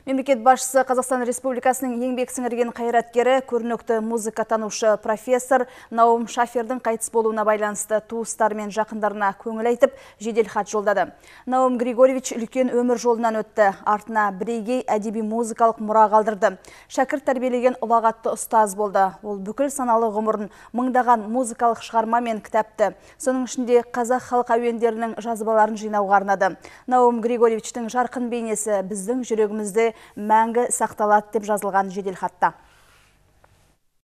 Мемлекет басшысы Қазақстан Республикасының еңбек сіңірген қайраткері, көрнекті музыка танушы профессор Наум Шафердің қайтыс болуына байланысты туыстары мен жақындарына көңіл айтып, жедел хат жолдады. Наум Григорьевич үлкен өмір жолынан өтті, артына бірегей әдеби музыкалық мұра қалдырды. Шәкірт тәрбиелеген ұлағатты ұстаз болды. Ол бүкіл саналы ғұмырын мыңдаған музыкалық шығарма мен кітапты, соның ішінде қазақ халық әуендерінің жазбаларын жинауға арнады. Наум Григорьевичтің жарқын бейнесі біздің жүрегімізде мәңгі сақталады деп жазылған жедел хатта.